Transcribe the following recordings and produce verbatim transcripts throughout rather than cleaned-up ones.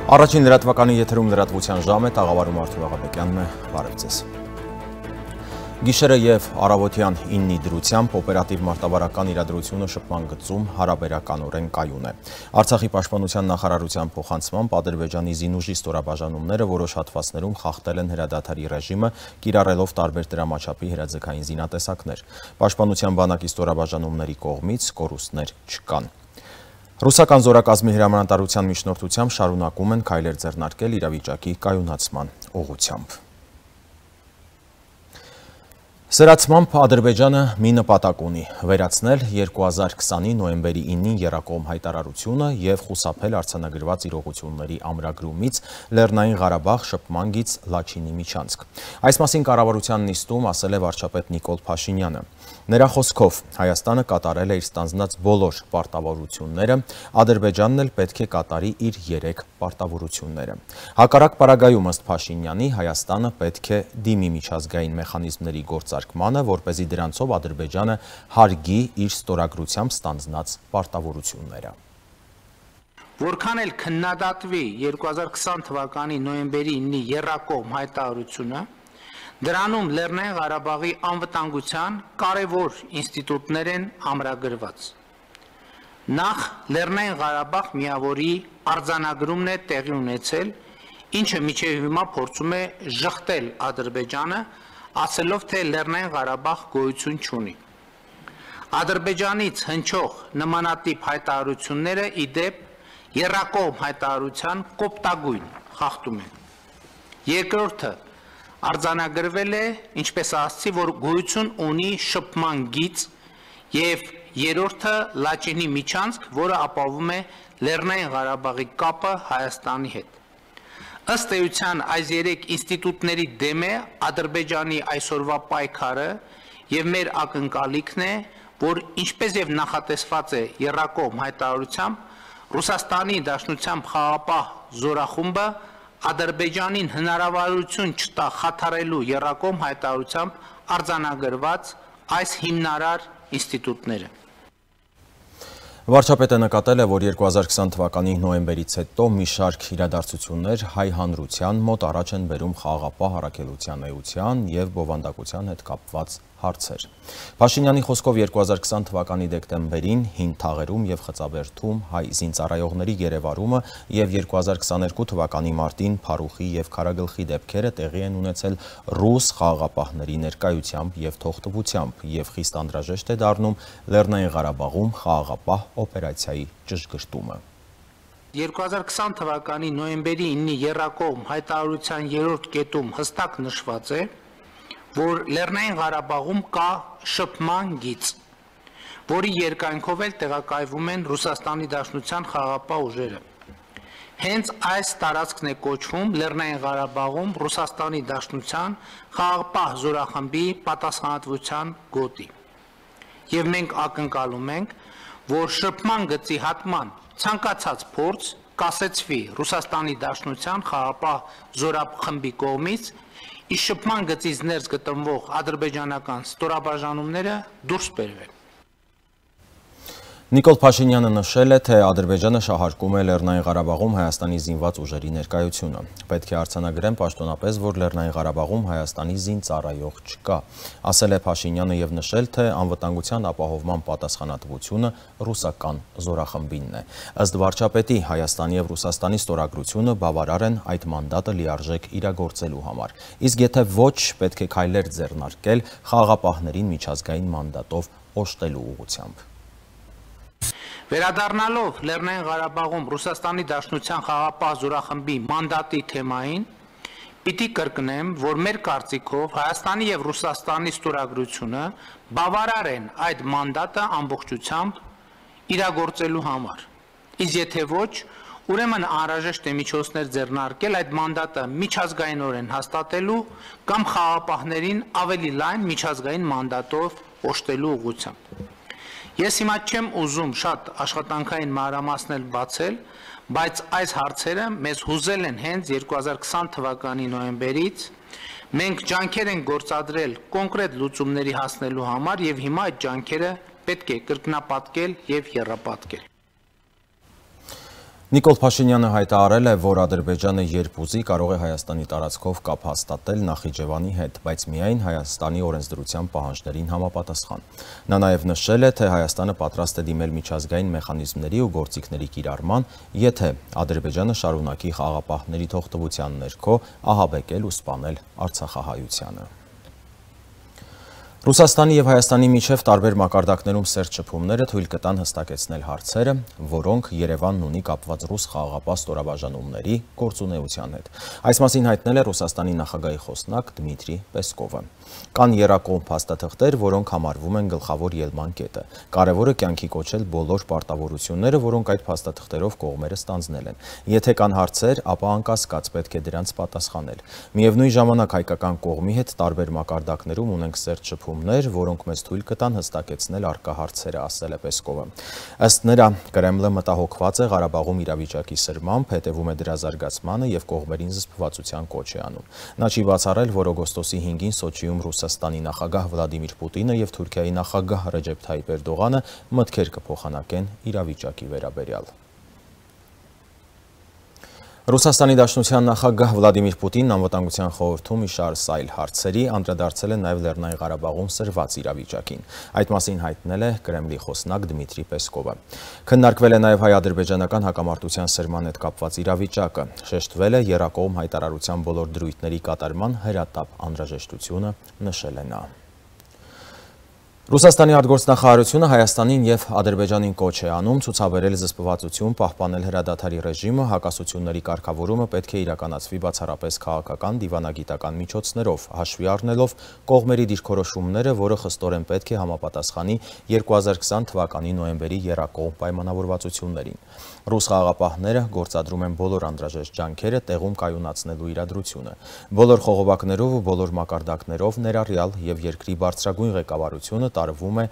Առաջին լրատվականի եթերում լրատվության ժամ է, տաղավարում Արթուր Աղաբեկյանն է, բարև ձեզ։ Գիշերը և առավոտյան իննի դրությամբ օպերատիվ մարտավարական իրադրությունը շփման գծում հարաբերականորեն կայուն է։ Արցախի պաշտպանության նախարարության փոխանցմամբ Ադրբեջանի զինուժի ստորաբաժանումները որոշ հատվածներում խախտել են հրադադարի ռեժիմը, կիրառելով տարբեր դրամաչափի հրաձգային զինատեսակներ։ Պաշտպանության բանակի ստորաբաժանումների կողմից կորուստներ չկան։ Ռուսական զորակազմի հրամանատարության միջնորդությամբ շարունակում են քայլեր ձեռնարկել իրավիճակի կայունացման ուղղությամբ։ Սրացմամբ Ադրբեջանը մի նպատակ ունի՝ վերացնել երկու հազար քսանի նոյեմբերի ինին եռակողմ հայտարարությունը և խուսափել արձանագրված իրողությունների ամրագրումից Լեռնային Ղարաբաղ շփման գիծ Լաչինի միջանցք։ Այս մասին կառավարության նիստում ասել է վարչապետ Նիկոլ Փաշինյանը։ Նրա խոսքով Հայաստանը կատարել է իր ստանձնած բոլոր պարտավորությունները, Ադրբեջանն էլ պետք է կատարի իր երեք պարտավորությունները։ Հակառակ պարագայում ըստ Փաշինյանի Հայաստանը պետք է դիմի միջազգային մեխանիզմների գործարկմանը, որպեսզի դրանցով Ադրբեջանը հարգի իր ստորագրությամբ ստանձնած պարտավորությունները։ Որքան էլ քննադատվի երկու հազար քսան թվականի նոյեմբերի ինի եռակողմ հայտարարությունը, դրանում Լեռնային Ղարաբաղի անվտանգության կարևոր ինստիտուտներ են ամրագրված։ Նախ Լեռնային Ղարաբաղ միավորի արձանագրումն է տեղի ունեցել, ինչը մինչև հիմա փորձում է ժխտել Ադրբեջանը, ասելով, թե Լեռնային Ղարաբաղ գոյություն չունի։ Ադրբեջանից հնչող նմանատիպ հայտարարությունները ի դեպ եռակողմ հայտարարության կոպտագույն խախտում են։ Երկրորդը արձանագրվել է, ինչպես ասացի, որ գոյություն ունի շփման գիծ, և երրորդը Լաչինի միջանցք, որը ապահովում է Լեռնային Ղարաբաղի կապը Հայաստանի հետ։ Ըստ էության այս երեք ինստիտուտների դեմ է Ադրբեջանի այսօրվա պայքարը և մեր ակնկալիքն է, որ ինչպես և նախատեսված է եռակողմ հայտարարությամբ, Ռուսաստանի Դաշնությամբ խաղաղապահ զորախումբը Ադրբեջանին հնարավորություն չտա խաթարելու եռակողմ հայտարարությամբ արձանագրված այս հիմնարար ինստիտուտները։ Վարչապետը նկատել է, որ երկու հազար քսան թվականի նոյեմբերից հետո մի շարք իրադարձություններ հայ հանրության մոտ առաջ են բերում խաղաղապահ առաքելության էության և բովանդակության հետ կապված հարցեր։ Փաշինյանի խոսքով երկու հազար քսան թվականի դեկտեմբերին հին թաղերում և Խծաբերդում հայ զինծառայողների գերեվարումը և երկու հազար քսաներկու թվականի մարտին Փարուխի և Քարագլխի դեպքերը տեղի են ունեցել ռուս խաղաղապահների ներկայությամբ և թողտվությամբ և խիստ անհրաժեշտ է դառնում Լեռնային Ղարաբաղում խաղաղապահ օպերացիայի ճշգրտումը։ երկու հազար քսան թվականի նոյեմբերի ինի եռակողմ հայտարարության երրորդ կետում հստակ նշված է, որ Լեռնային Ղարաբաղում կա շփման գիծ, որի երկայնքով էլ տեղակայվում են Ռուսաստանի Դաշնության խաղաղապահ ուժերը։ Հենց այս տարածքն է կոչվում Լեռնային Ղարաբաղում Ռուսաստանի Դաշնության խաղաղապահ զորախմբի պատասխանատվության գոտի։ Եվ մենք ակնկալում ենք, որ շփման գծի հատման ցանկացած փորձ կասեցվի Ռուսաստանի Դաշնության խաղաղապահ զորախմբի կողմից, իսկ շփման գծից ներս գտնվող ադրբեջանական ստորաբաժանումները դուրս բերվեն։ Նիկոլ Փաշինյանը նշել է, թե Ադրբեջանը շահարկում է Լեռնային Ղարաբաղում Հայաստանի զինված ուժերի ներկայությունը։ Պետք է արձանագրեն պաշտոնապես, որ Լեռնային Ղարաբաղում Հայաստանի զինծառայող չկա։ Ասել է Փաշինյանը և նշել, թե անվտանգության ապահովման պատասխանատվությունը ռուսական զորախմբինն է։ Ըստ վարչապետի, Հայաստանի և Ռուսաստանի ստորագրությունը բավարար են այդ մանդատը լիարժեք իրագործելու համար։ Իսկ եթե ոչ, պետք է քայլեր ձեռնարկել խաղաղապահներին միջազգային մանդատով օժտելու ուղղությամբ։ Վերադառնալով Լեռնային Ղարաբաղում Ռուսաստանի Դաշնության խաղաղապահ զորախմբի մանդատի թեմային, պիտի կրկնեմ, որ մեր կարծիքով Հայաստանի և Ռուսաստանի ստորագրությունը բավարար են այդ մանդատը ամբողջությամբ իրագործելու համար։ Իսկ եթե ոչ, ուրեմն անհրաժեշտ է միջոցներ ձեռնարկել այդ մանդատը միջազգայինորեն հաստատելու կամ խաղաղապահներին ավելի լայն միջազգային մանդատով օժտելու ուղղությամբ։ Ես հիմա չեմ ուզում շատ աշխատանքային մանրամասներ բացել, բայց այս հարցերը մեզ հուզել են հենց երկու հազար քսան թվականի նոյեմբերից, մենք ջանքեր ենք գործադրել կոնկրետ լուծումների հասնելու համար և հիմա այդ ջանքերը պետք է կրկնապատկել և եռապատկել։ Նիկոլ Փաշինյանը հայտարարել է, որ Ադրբեջանը երբ ուզի կարող է Հայաստանի տարածքով կապ հաստատել Նախիջևանի հետ, բայց միայն Հայաստանի օրենսդրության պահանջներին համապատասխան։ Նա նաև նշել է, թե Հայաստանը պատրաստ է դիմել միջազգային մեխանիզմների ու գործիքների կիրառման, եթե Ադրբեջանը շարունակի խաղաղապահների թողտվության ներքո ահաբեկել ու սպանել արցախահայությանը։ Ռուսաստանի և Հայաստանի միջև տարբեր մակարդակներում սերտ շփումները թույլ կտան հստակեցնել հարցերը, որոնք Երևանն ունի կապված ռուս խաղաղապահ ստորաբաժանումների գործունեության հետ։ Այս մասին հայտնել է Ռուսաստանի նախագահի խոսնակ Դմիտրի Պեսկովը։ Կան եռակողմ փաստաթղթեր, որոնք համարվում են գլխավոր ելման կետը։ Կարևորը կյանքի կոչել բոլոր պարտավորությունները, որոնք այդ փաստաթղթերով կողմերը ստանձնել են։ Եթե կան հարցեր, ապա անկասկած պետք է դրանց պատասխանել։ Միևնույն ժամանակ հայկական կողմի հետ տարբեր մակարդակներում ունենք սերտ շփումներ, որոնք մեզ թույլ կտան հստակեցնել առկա հարցերը, ասել է Պեսկովը։ Ըստ նրա, Կրեմլը մտահոգված է Ղարաբաղում իրավիճակի սրմամբ, հետևում է դրա զարգացմանը և կողմերին զսպվածության կոչ է անում։ Նա չի բացառել, որ օգոստոսի հինգին Սոչիում Ռուսաստանի նախագահ Վլադիմիր Պուտինը և Թուրքիայի նախագահ Ռեջեփ Թայիպ Էրդողանը մտքեր կփոխանակեն իրավիճակի վերաբերյալ։ Ռուսաստանի Դաշնության նախագահ Վլադիմիր Պուտինն Անվտանգության խորհրդում մի շարք այլ հարցերի անդրադարձել է նաև Լեռնային Ղարաբաղում սրված իրավիճակին։ Այդ մասին հայտնել է Կրեմլի խոսնակ Դմիտրի Պեսկովը։ Քննարկվել է նաև հայ-ադրբեջանական հակամարտության սրման հետ կապված իրավիճակը։ Շեշտվել է եռակողմ հայտարարության բոլոր դրույթների կատարման հրատապ անհրաժեշտությունը, նշել է նա։ Ռուսաստանի արտգործնախարարությունը Հայաստանին և Ադրբեջանին կոչ է անում ցուցաբերել զսպվածություն, պահպանել հրադադարի ռեժիմը, հակասությունների կարգավորումը պետք է իրականացվի բացառապես քաղաքական, դիվանագիտական միջոցներով, հաշվի առնելով կողմերի դիրքորոշումները, որը խստորեն պետք է համապատասխանի երկու հազար քսան թվականի նոյեմբերի եռակողմ պայմանավորվածություններին։ Ռուս խաղաղապահները գործադրում են բոլոր անհրաժեշտ ջանքերը տեղում կայունացնելու իրադրությունը։ Բոլոր խողովակներով ու բոլոր մակարդակներով ներառյալ և երկրի բարձրագույն ղեկավարությունը տարվում է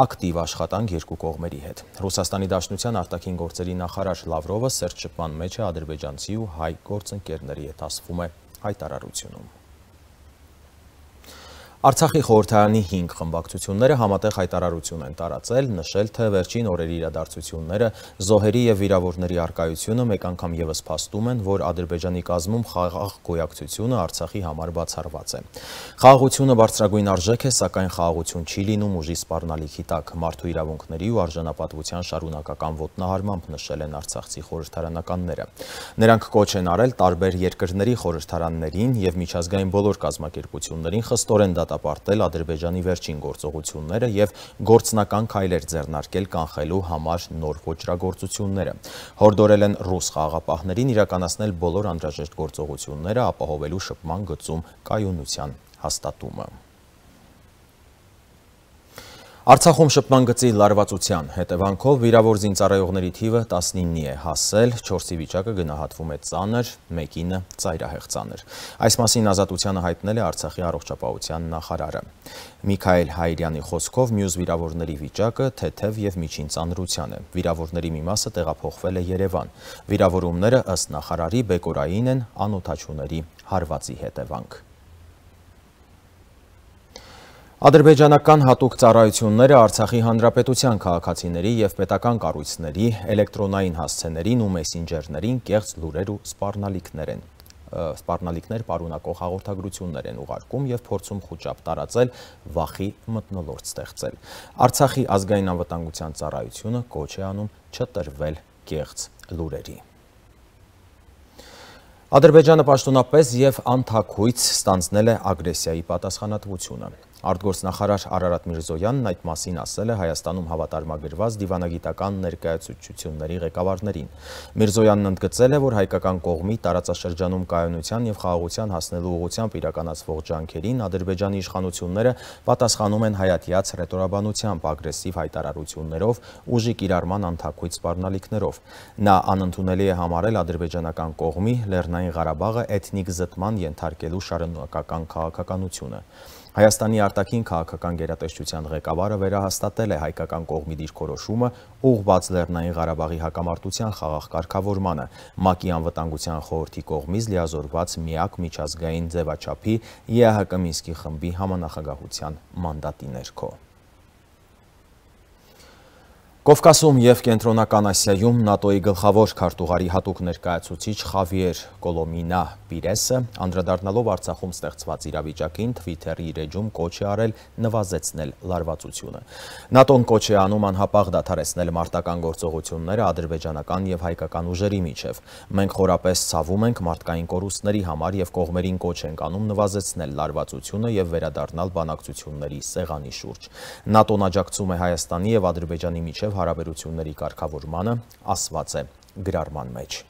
ակտիվ աշխատանք երկու կողմերի հետ։ Ռուսաստանի Դաշնության արտաքին գործերի նախարար Լավրովը սերտ շփման մեջ է ադրբեջանցի ու հայ գործընկերների հետ, ասվում է հայտարարությունում։ Արցախի խորհրդարանի հինգ խմբակցությունները համատեղ հայտարարություն են տարածել, նշել, թե վերջին օրերի իրադարձությունները, զոհերի և վիրավորների առկայությունը մեկ անգամ ևս փաստում են, որ Ադրբեջանի կազմում խաղաղ գոյակցությունը Արցախի համար բացառված է։ Խաղաղությունը բարձրագույն արժեք է, սակայն խաղաղություն չի լինում ուժի սպառնալիքի տակ, մարդու իրավունքների ու արժանապատվության շարունակական ոտնահարմամբ, նշել են արցախցի խորհրդարանականները։ Նրանք կոչ են արել տարբեր երկրների խորհրդարաններին և միջազգային բոլոր կազմակերպություններին խստորեն դատապարտել Ադրբեջանի վերջին գործողությունները և գործնական քայլեր ձեռնարկել կանխելու համար նոր ոճրագործությունները։ Հորդորել են ռուս խաղաղապահներին իրականացնել բոլոր անհրաժեշտ գործողությունները, ապահովելու շփման գծում կայունության հաստատումը։ Արցախում շփման գծի լարվածության հետևանքով վիրավոր զինծառայողների թիվը տասնինի է հասել, չորսի վիճակը գնահատվում է ծանր, մեկինը ծայրահեղ ծանր։ Այս մասին Ազատությանը հայտնել է Արցախի առողջապահության նախարարը։ Միքայել Հայրյանի խոսքով մյուս վիրավորների վիճակը թեթև և միջին ծանրության է։ Վիրավորների մի մասը տեղափոխվել է Երևան։ Վիրավորումները ըստ նախարարի բեկորային են, անօդաչուների հարվածի հետևանք։ Ադրբեջանական հատուկ ծառայությունները Արցախի հանրապետության քաղաքացիների և պետական կառույցների, էլեկտրոնային հասցեներին ու մեսենջերներին կեղծ լուրեր ու սպառնալիքներ են սպառնալիքներ պարունակող հաղորդագրություններ են ուղարկում և փորձում խուճապ տարածել, վախի մթնոլորտ ստեղծել։ Արցախի ազգային անվտանգության ծառայությունը կոչ է անում չտրվել կեղծ լուրերի։ Ադրբեջանը պաշտոնապես և անթաքույց ստանձնել է ագրեսիայի պատասխանատվությունը։ Արտգործնախարար Արարատ Միրզոյանն այդ մասին ասել է Հայաստանում հավատարմագրված դիվանագիտական ներկայացուցչությունների ղեկավարներին։ Միրզոյանն ընդգծել է, որ հայկական կողմի տարածաշրջանում կայունության և խաղաղության հասնելու ուղղությամբ իրականացվող ջանքերին Ադրբեջանի իշխանությունները պատասխանում են հայատյաց հռետորաբանությամբ, ագրեսիվ հայտարարություններով, ուժի կիրառման անթաքույց սպառնալիքներով։ Նա անընդունելի է համարել ադրբեջանական կողմի Լեռնային Ղարաբաղը էթնիկ զտման ենթարկելու շարունակական քաղաքականությունը։ Հայաստանի արտաքին քաղաքական գերատեսչության ղեկավարը վերահաստատել է հայկական կողմի դիրքորոշումը ուղղված Լեռնային Ղարաբաղի հակամարտության խաղաղ կարգավորմանը, ՄԱԿ-ի անվտանգության խորհրդի կողմից լիազորված միակ միջազգային ձևաչափի ԵԱՀԿ Մինսկի խմբի համանախագահության մանդատի ներքո։ Կովկասում և Կենտրոնական Ասիայում ՆԱՏՕ-ի գլխավոր քարտուղարի հատուկ ներկայացուցիչ Խավիեր Կոլոմինա Պիրեսը անդրադառնալով Արցախում ստեղծված իրավիճակին Թվիթերի իր էջում կոչ է արել նվազեցնել լարվածությունը։ ՆԱՏՕ-ն կոչ է անում անհապաղ դադարեցնել մարտական գործողությունները ադրբեջանական և հայկական ուժերի միջև։ Մենք խորապես ցավում ենք մարդկային կորուստների համար և կողմերին կոչ ենք անում նվազեցնել լարվածությունը և վերադառնալ բանակցությունների սեղանի շուրջ։ ՆԱՏՕ-ն աջակցում է Հայաստանի և Ադրբեջանի միջև հարաբերությունների կարգավորմանը, ասված է գրառման մեջ։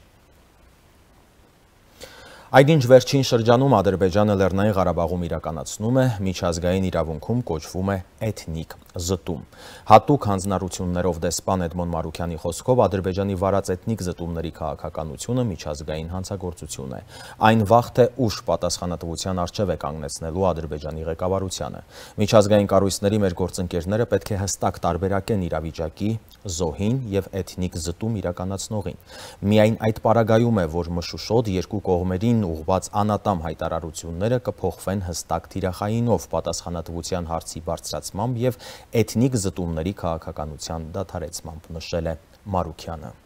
Այնինչ վերջին շրջանում Ադրբեջանը Լեռնային Ղարաբաղում իրականացնում է միջազգային իրավունքում կոչվում է էթնիկ զտում։ Հատուկ հանձնառություններով դեսպան Էդմոն Մարուքյանի խոսքով Ադրբեջանի վարած էթնիկ զտումների քաղաքականությունը միջազգային հանցագործություն է։ Այն վաղ թե ուշ պատասխանատվության առջև է կանգնեցնելու Ադրբեջանի ղեկավարությանը։ Միջազգային կառույցների մեր գործընկերները պետք է հստակ տարբերակեն իրավիճակի, զոհին և էթնիկ զտում իրականացնողին։ Միայն այդ պարագայում է, որ մշուշոտ երկու կողմերին ուղղված անատամ հայտարարությունները կփոխվեն հստակ թիրախայինով պատասխանատվության հարցի բարձրացմամբ և էթնիկ զտումների քաղաքականության դադարեցմամբ, նշել է Մարուքյանը։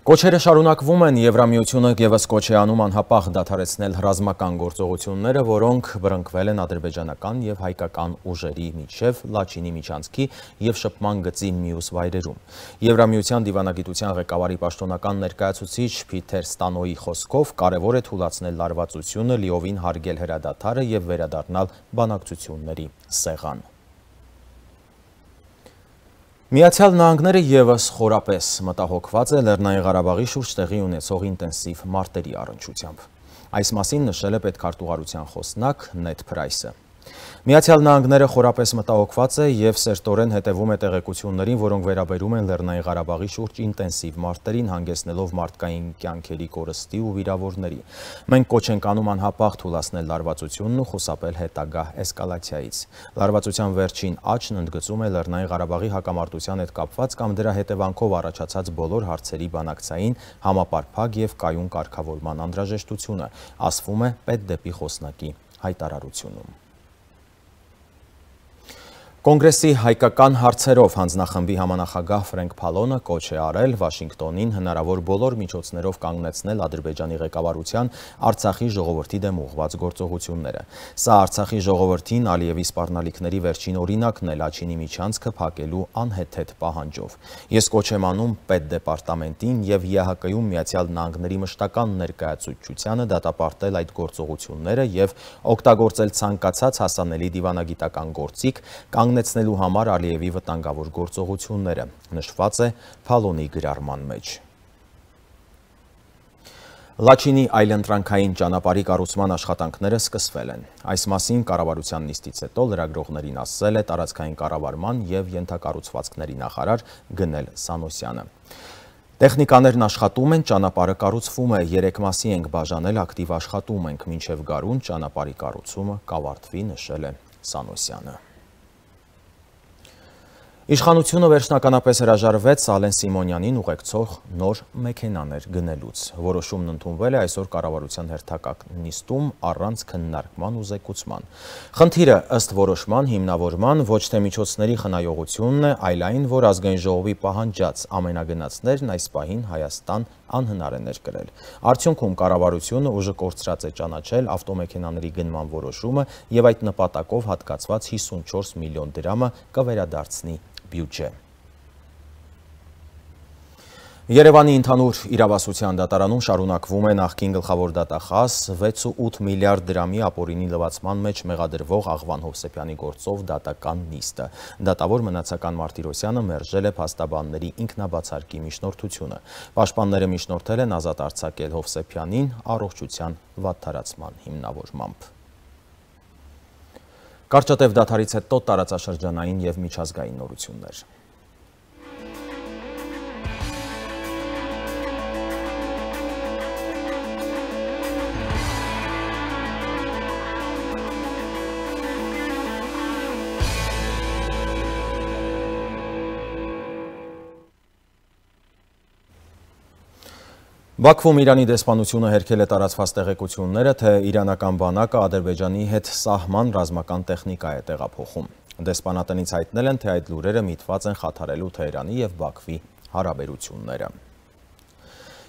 Կոչերը շարունակվում են, Եվրամիությունը ևս կոչ է անում անհապաղ դադարեցնել ռազմական գործողությունները, որոնք բռնկվել են ադրբեջանական և հայկական ուժերի միջև Լաչինի միջանցքի և շփման գծի մյուս վայրերում։ Եվրամիության դիվանագիտության ղեկավարի պաշտոնական ներկայացուցիչ Փիթեր Ստանոյի խոսքով կարևոր է թուլացնել լարվածությունը, լիովին հարգել հրադադարը և վերադառնալ բանակցությունների սեղան։ Միացյալ Նահանգները ևս խորապես մտահոգված է Լեռնային Ղարաբաղի շուրջ տեղի ունեցող ինտենսիվ մարտերի առնչությամբ։ Այս մասին նշել է պետքարտուղարության խոսնակ Նեդ Փրայսը։ Միացյալ Նահանգները խորապես մտահոգված է և սերտորեն հետևում է տեղեկություններին, որոնք վերաբերում են Լեռնային Ղարաբաղի շուրջ ինտենսիվ մարտերին, հանգեցնելով մարդկային կյանքերի կորստի ու վիրավորների։ Մենք կոչ ենք անում անհապաղ թուլացնել լարվածությունն ու խուսափել հետագա էսկալացիայից։ Լարվածության վերջին աճն ընդգծում է Լեռնային Ղարաբաղի հակամարտության հետ կապված կամ դրա հետևանքով առաջացած բոլոր հարցերի բանակցային, համապարփակ և կայուն կարգավորման անհրաժեշտությունը, ասվում է պետդեպի խոսնակի հայտարարությունում։ Կոնգրեսի հայկական հարցերով հանձնախմբի համանախագահ Ֆրենկ Փալոնը կոչ է արել Վաշինգտոնին հնարավոր բոլոր միջոցներով կանգնեցնել Ադրբեջանի ղեկավարության Արցախի ժողովրդի դեմ ուղղված գործողությունները։ Սա Արցախի ժողովրդին Ալիևի սպառնալիքների վերջին օրինակն է Լաչինի միջանցքը փակելու անհեթեթ պահանջով։ Ես կոչ եմ անում պետդեպարտամենտին և ԵԱՀԿ-ում Միացյալ Նահանգների մշտական ներկայացուցչությանը դատապարտել այդ գործողությունները և օգտագործել ցանկացած հասանելի դիվանագիտական գործիք կանգնեցնելու համար Ալիևի վտանգավոր գործողությունները, նշված է Փալոնի գրառման մեջ։ Լաչինի այլընտրանքային ճանապարհի կառուցման աշխատանքները սկսվել են։ Այս մասին կառավարության նիստից հետո լրագրողներին ասել է տարածքային կառավարման և ենթակառուցվածքների նախարար Գնել Սանոսյանը։ Տեխնիկաներն աշխատում են, ճանապարհը կառուցվում է, երեք մասի ենք բաժանել, ակտիվ աշխատում ենք, մինչև գարուն ճանապարհի կառուցումը կավարտվի, նշել է Սանոսյանը։ Իշխանությունը վերջնականապես հրաժարվեց Ալեն Սիմոնյանին ուղեկցող նոր մեքենաներ գնելուց։ Որոշումն ընդունվել է այսօր կառավարության հերթական նիստում առանց քննարկման ու զեկուցման։ Խնդիրը ըստ որոշման հիմնավորման ոչ թե միջոցների խնայողությունն է, այլ այն, որ ազգային ժողովի պահանջած ամենագնացներն այս պահին Հայաստան անհնար է ներկրել։ Արդյունքում կառավարությունը ուժը կորցրած է ճանաչել ավտոմեքենաների գնման որոշումը և այդ նպատակով հատկացված հիսունչորս միլիոն դրամը կվերադարձնի բյուջե։ Երևանի ընդհանուր իրավասության դատարանում շարունակվում է նախկին գլխավոր դատախազ վեց ու ութ միլիարդ դրամի ապօրինի լվացման մեջ մեղադրվող Աղվան Հովսեփյանի գործով դատական նիստը։ Դատավոր Մնացական Մարտիրոսյանը մերժել է փաստաբանների ինքնաբացարկի միջնորդությունը։ Պաշտպանները միջնորդել են ազատ արձակել Հովսեփյանին առողջության վատթարացման հիմնավորմամբ։ Կարճատև դադարից հետո տարածաշրջանային և միջազգային նորություններ։ Բաքվում Իրանի դեսպանությունը հերքել է տարածված տեղեկությունները, թե իրանական բանակը Ադրբեջանի հետ սահման ռազմական տեխնիկա է տեղափոխում։ Դեսպանատնից հայտնել են, թե այդ լուրերը միտված են խաթարելու Թեհրանի և Բաքվի հարաբերությունները։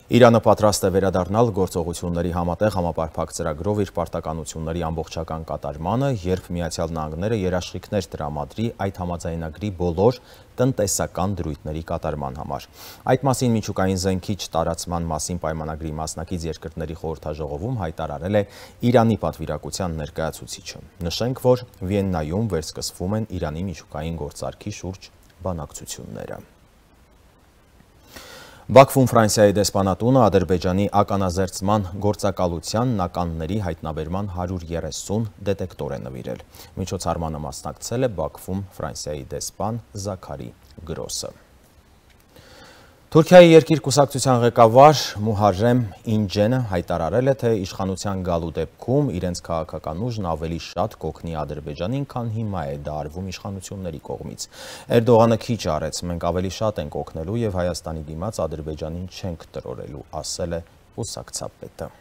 Իրանը պատրաստ է վերադառնալ գործողությունների համատեղ համապարփակ ծրագրով իր պարտականությունների ամբողջական կատարմանը, երբ Միացյալ Նահանգները երաշխիքներ տրամադրի այդ համաձայնագրի բոլոր տնտեսական դրույթների կատարման համար։ Այդ մասին միջուկային զենքի չտարածման մասին պայմանագրի մասնակից երկրների խորհրդաժողովում հայտարարել է Իրանի պատվիրակության ներկայացուցիչը։ Նշենք, որ Վիեննայում վերսկսվում են Իրանի միջուկային գործարքի շուրջ բանակցությունները։ Բաքվում Ֆրանսիայի դեսպանատունը Ադրբեջանի ականազերծման գործակալության ականների հայտնաբերման հարյուր երեսուն դետեկտոր է նվիրել։ Միջոցառմանը մասնակցել է Բաքվում Ֆրանսիայի դեսպան Զաքարի Գրոսը։ Թուրքիայի երկիր կուսակցության ղեկավար Մուհարրեմ Ինջենը հայտարարել է, թե իշխանության գալու դեպքում իրենց քաղաքական ուժն ավելի շատ կօգնի Ադրբեջանին, քան հիմա է դա արվում իշխանությունների կողմից։ Էրդողանը քիչ արեց, մենք ավելի շատ ենք օգնելու և Հայաստանի դիմաց Ադրբեջանին չենք տրորելու, ասել է կուսակցապետը։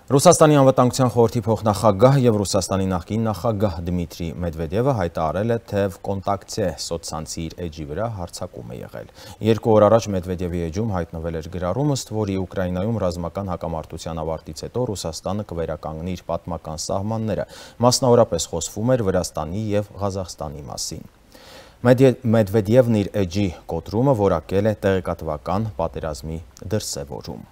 Ռուսաստանի անվտանգության խորհրդի փոխնախագահ և Ռուսաստանի նախկին նախագահ Դմիտրի Մեդվեդևը հայտարարել է, թե «Կոնտակտե» սոցցանցի իր էջի վրա հարձակում է եղել։ Երկու օր առաջ Մեդվեդևի էջում հայտնվել էր գրառում, ըստ որի Ուկրաինայում ռազմական հակամարտության ավարտից հետո Ռուսաստանը կվերականգնի իր պատմական սահմանները, մասնավորապես խոսվում էր Վրաստանի և Ղազախստանի մասին։ Մեդվեդևն իր էջի կոտրումը որակել է տեղեկատվական պատերազմի դրսևորում։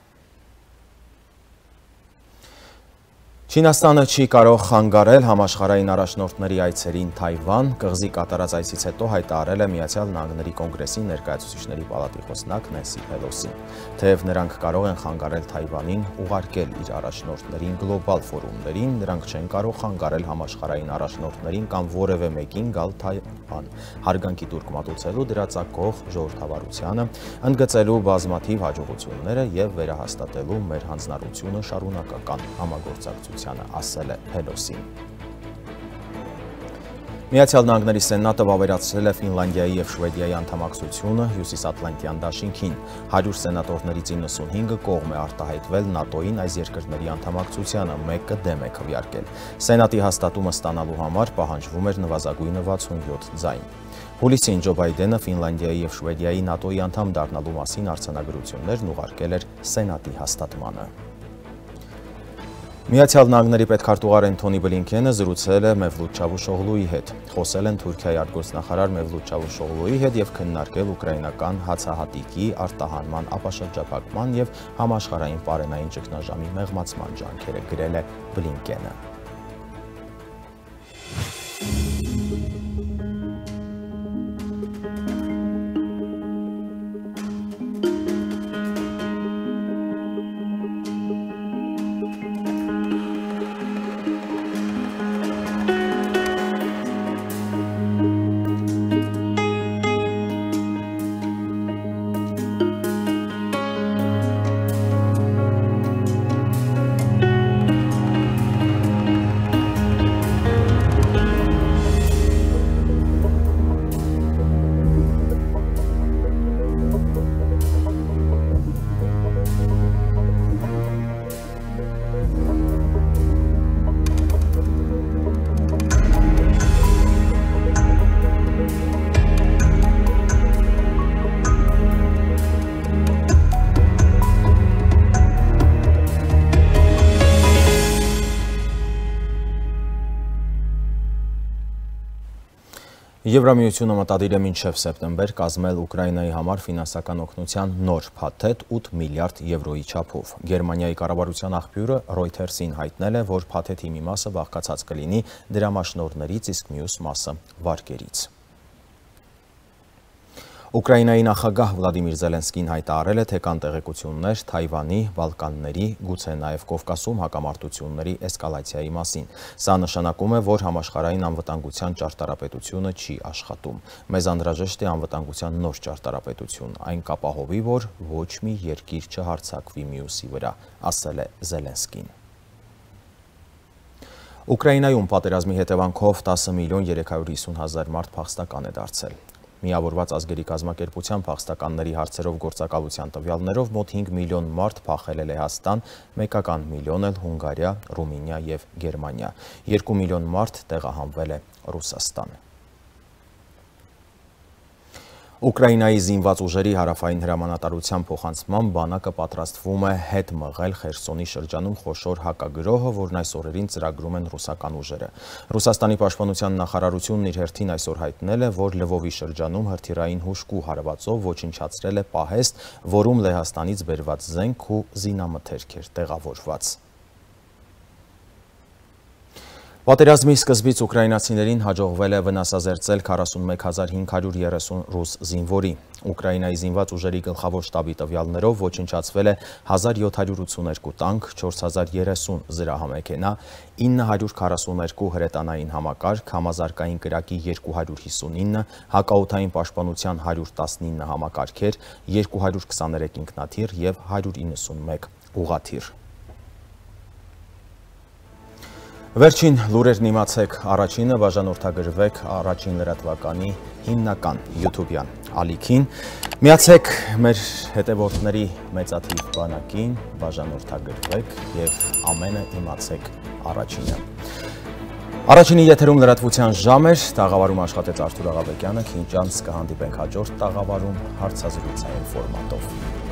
Չինաստանը չի կարող խանգարել համաշխարհային առաջնորդների այցերին Թայվան, կղզի կատարած այցից հետո հայտարարել է Միացյալ Նահանգների Կոնգրեսի ներկայացուցիչների պալատի խոսնակ Նենսի Փելոսին։ Թեև նրանք կարող են խանգարել Թայվանին ուղարկել իր առաջնորդներին գլոբալ ֆորումներին, նրանք չեն կարող խանգարել համաշխարհային առաջնորդներին կամ որևէ մեկին գալ Թայվան, հարգանքի տուրք մատուցելու դրա ծագող ժողովրդավարությանը, ընդգծելու բազմաթիվ հաջողությունները և վերահաստատելու մեր հանձնառությունը շարունակական համագործակցությանը, ասել է Փելոսին։ Միացյալ Նահանգների Սենատը վավերացրել է Ֆինլանդիայի և Շվեդիայի անդամակցությունը Հյուսիսատլանտյան դաշինքին։ հարյուր սենատորներից իննսունհինգը կողմ է արտահայտվել ՆԱՏՕ-ին այս երկրների անդամակցությանը, մեկը դեմ է քվեարկել։ Սենատի հաստատումը ստանալու համար պահանջվում էր նվազագույնը վաթսունյոթ ձայն։ Հուլիսին Ջո Բայդենը Ֆինլանդիայի և Շվեդիայի ՆԱՏՕ-ի անդամ դառնալու մասին արձանագրություններն ուղարկել էր Սենատի հաստատմանը։ Միացյալ Նահանգների պետքարտուղար Էնթոնի Բլինքենը զրուցել է Մևլութ Չավուշօղլուի հետ։ Խոսել են Թուրքիայի արտգործնախարար Մևլութ Չավուշօղլուի հետ և քննարկել ուկրաինական հացահատիկի արտահանման ապաշրջափակման և համաշխարհային պարենային ճգնաժամի մեղմացման ջանքերը, գրել է Բլինքենը։ Եվրամիությունը մտադիր է մինչև սեպտեմբեր կազմել Ուկրաինայի համար ֆինանսական օգնության նոր փաթեթ ութ միլիարդ եվրոյի չափով։ Գերմանիայի կառավարության աղբյուրը Reuters-ին հայտնել է, որ փաթեթի մի մասը բաղկացած կլինի դրամաշնորհներից, իսկ մյուս մասը վարկերից։ Ուկրաինայի նախագահ Վլադիմիր Զելենսկին հայտարարել է, թե կան տեղեկություններ Թայվանի, Բալկանների, գուցե նաև Կովկասում հակամարտությունների էսկալացիայի մասին։ Սա նշանակում է, որ համաշխարհային անվտանգության ճարտարապետությունը չի աշխատում։ Մեզ անհրաժեշտ է անվտանգության նոր ճարտարապետություն, այն կապահովի, որ ոչ մի երկիր չհարձակվի մյուսի վրա, ասել է Զելենսկին։ Ուկրաինայում պատերազմի հետևանքով տասը միլիոն երեք հարյուր հիսուն հազար մարդ փախստական է դարձել։ Միավորված ազգերի կազմակերպության փախստականների հարցերով գործակալության տվյալներով մոտ հինգ միլիոն մարդ փախել է Լեհաստան, մեկական միլիոն էլ Հունգարիա, Ռումինիա և Գերմանիա, երկու միլիոն մարդ տեղահանվել է Ռուսաստան։ Ուկրաինայի զինված ուժերի հարավային հրամանատարության փոխանցմամբ բանակը պատրաստվում է հետ մղել Խերսոնի շրջանում խոշոր հակագրոհը, որն այս օրերին ծրագրում են ռուսական ուժերը։ Ռուսաստանի պաշտպանության նախարարությունն իր հերթին այսօր հայտնել է, որ Լվովի շրջանում հրթիռային հուժկու հարվածով ոչնչացրել է պահեստ, որում Լեհաստանից բերված զենք ու զինամթերք էր տեղավորված։ Պատերազմի սկզբից ուկրաինացիներին հաջողվել է վնասազերծել քառասունմեկ հազար հինգ հարյուր երեսուն ռուս զինվորի։ Ուկրաինայի զինված ուժերի գլխավոր շտաբի տվյալներով ոչնչացվել է հազար յոթ հարյուր ութսուներկու տանկ, չորս հազար երեսուն զրահամեքենա, ինը հարյուր քառասուներկու հրետանային համակարգ, համազարգային կրակի երկու հարյուր հիսունինը, հակաօդային պաշտպանության հարյուր տասնինը համակարգեր, երկու հարյուր քսաներեք ինքնաթիռ և հարյուր իննսունմեկ ուղղաթիռ։ Վերջին լուրերն իմացեք, առաջինը բաժանորդագրվեք առաջին լրատվականի հիմնական յութուբյան ալիքին, միացեք մեր հետևորդների մեծաթիվ բանակին, բաժանորդագրվեք և ամենը իմացեք առաջինը։ Առաջինի եթերում լրատվության ժամ էր, տաղավարում աշխատեց Արթուր Աղաբեկյանը, քիչ անց կհանդիպենք հաջորդ տաղավարում հարցազրույցային ֆորմատով։